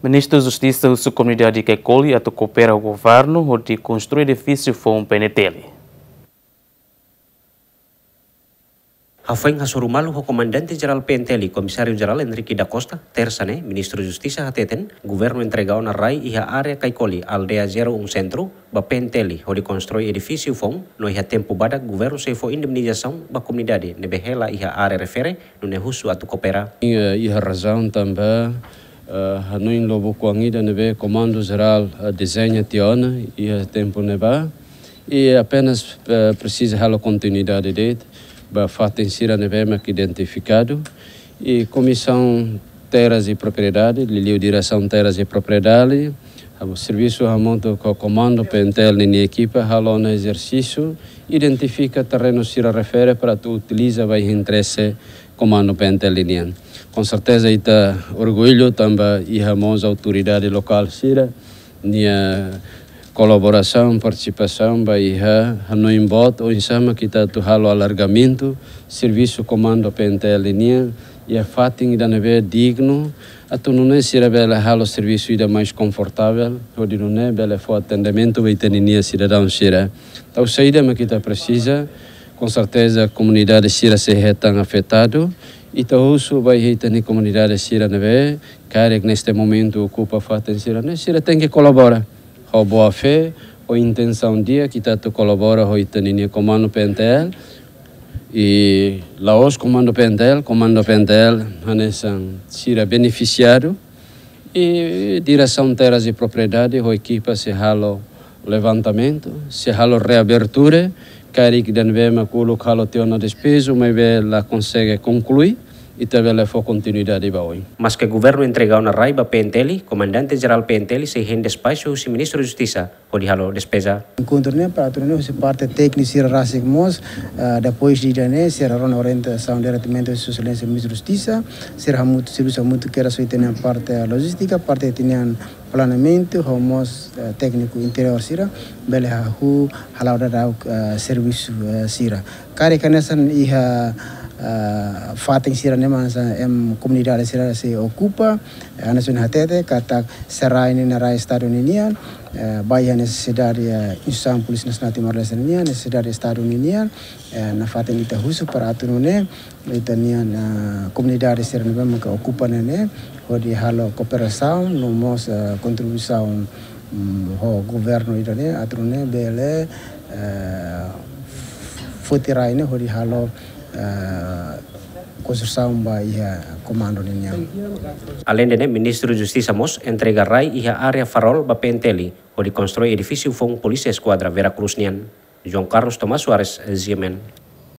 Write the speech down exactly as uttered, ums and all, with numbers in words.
Ministru Justisa husu komunidade Kaikoli atu koopera ho governu hodi konstrui edifísiu foun P N T L. Hafoin hasoru malu ho Komandante Jerál P N T L, Komisáriu Jerál Henrique da Costa, Tersa ne'e, Ministru Justisa hateten, governu entrega ona rai iha área Kaikoli, Aldeia zero um Centro, ba P N T L, hodi konstrui edifísiu foun, no iha tempu badak governu sei fó indemnizasaun ba komunidade ne'ebé hela iha área refere, nune'e husu atu koopera. Iha, iha razaun tanba, eh, hanoin lubuk oan ida ne'ebé Komandu Jerál, eh, dezeña tiha ona iha tempu ne'ebá. I apenas, eh, presiza halo kontinuidade de'it ba fatin sira ne'ebé mak identifikadu. I Komisaun Terras e Propriedade, liuliu Diresaun Terras e Propriedade, hamu servisu hamutuk ho Komandu P N T L ninia ekipa halo ona ezersísiu, identifika terrenu sira refere para atu utiliza ba iha interese Komandu P N T L nian. Com certeza ita orgullu tanba iha mós autoridade lokál sira-nia kolaborasaun, partisipasaun ba iha hanoin boot oinsá mak ita atu halo alargamentu servisu Komandu P N T L nian iha fatin ida ne'ebé dignu, atu nune'e sira bele halo servisu ida mais konfortavel, hodi nune'e bele fó atendimentu ba ita-ninia sidadaun sira. Entaun saida mak ita presiza, com certeza komunidade sira sei hetan afetadu, ita husu ba iha ita-nia komunidade sira ne'ebé karik neste momentu okupa fatin sira-ne'e, sira tenke kolabora ho boa fé, ho intensaun di'ak ita atu kolabora ho ita-ninia Komandu P N T L, i la'ós Komandu P N T L, Komandu P N T L hanesan sira benefisiadu, i Diresaun Terras e Propriedade ho ekipa sei halo levantamentu, sei halo reabertura, karik ida ne'ebé mak uluk halo tiha ona despeju, maibé la konsege konklui, ita bele fó kontinuidade ba oin. Maske governu entrega ona rai ba P N T L, Komandante Jerál P N T L sei hein despaxu husi Ministru Justisa hodi halo despeza. Enkontru ne'e para atu nune'e husi parte tékniku sira rasik mós, ah, depois de ida-ne'e, sira rona orientasaun diretamente husi Sua Exelénsia Ministru Justisa, sira hamutuk, servisu hamutuk kedas ho ita-nia parte lojístika, parte ita-nia planeamentu, ho mós, eh, tékniku interiór sira, bele hahú hala'o daudauk, eh, servisu, eh, sira. Karik hanesan iha, eh, fatin sira-ne'e mak hanesan ema komunidade sira sei okupa, eh, hanesan hatete, katak se rai ne'e rai Estadu ninian, eh, ba iha nesesidade, eh, instituisaun Polísia Nasionál Timor-Leste ninian, nesesidade Estadu ninian, eh, nafatin ita husu para atu nune'e, ita-nian, ah, komunidade sira ne'ebé maka okupa ne'e ne'e, hodi halo kooperasaun, no mós, ah, kontribuisaun, mm, ho governu ida-ne'e, atu nune'e bele, eh, foti rai ne'e hodi halo, eh, konstrusaun ba iha komandu ninian. Aleinde ne'e, Ministru Justisa mós entrega rai iha área Farol ba P N T L, hodi konstrui edifísiu foun Polísia Eskuadra Vera Cruz nian. João Carlos Tomás Soares, G M N.